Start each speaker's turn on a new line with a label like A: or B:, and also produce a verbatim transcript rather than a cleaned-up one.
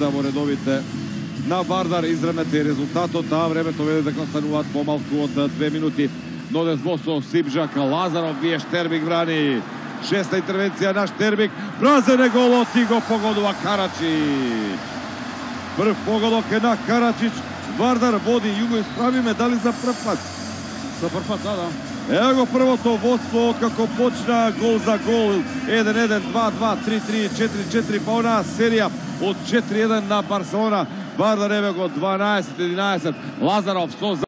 A: во редовите на Вардар. Изравнете и резултатот, а времето веде дека остануваат помалку од две минути. Нодес Босо, Сибжак, Лазаров, вие Штербик брани. Шеста интервенција на Штербик, празен е голот и го погодува Карачич. Прв погодок е на Карачич. Вардар води, Југо исправиме, дали за прв пат?
B: За прв пат, да, да.
A: Ево го првото водство како почна гол за гол. еден еден, два два, три три, четири четири, па онаа серија од четири еден на Барселона. Вардар еве го дванаесет единаесет. Лазаров со